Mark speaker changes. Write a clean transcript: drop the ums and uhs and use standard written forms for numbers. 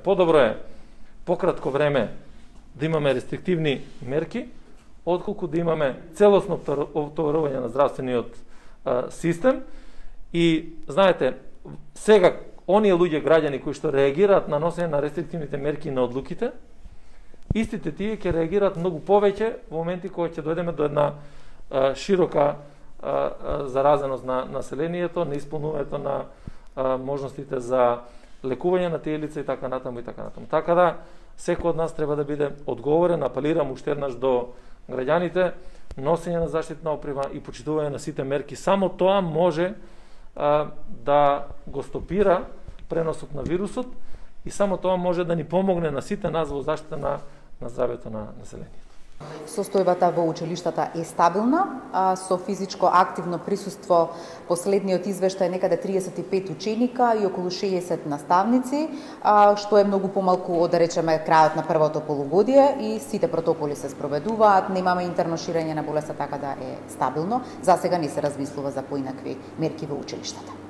Speaker 1: Подобро е пократко време да имаме рестриктивни мерки, отколку да имаме целосно оптоварување на здравствениот систем. И знаете, сега оние луѓе, граѓани кои што реагираат на носење на рестриктивните мерки на одлуките, истите тие ќе реагираат многу повеќе во моменти кога ќе дојдеме до една широка заразеност на населението, на исполнувањето на можностите за лекување на тие лица и така натаму и така натаму. Така да секој од нас треба да биде одговорен, апелирам уште еднаш до граѓаните, носење на заштитна опрема и почитување на сите мерки. Само тоа може да го стопира преносот на вирусот и само тоа може да ни помогне на сите нас во заштита на здравјето на населението.
Speaker 2: Состојбата во училиштата е стабилна, со физичко активно присуство. Последниот извештај некаде 35 ученика и околу 60 наставници, што е многу помалку од, да речеме, крајот на првото полугодие, и сите протоколи се спроведуваат, немаме интерно ширење на болеста, така да е стабилно. За сега не се размислува за поинакви мерки во училиштата.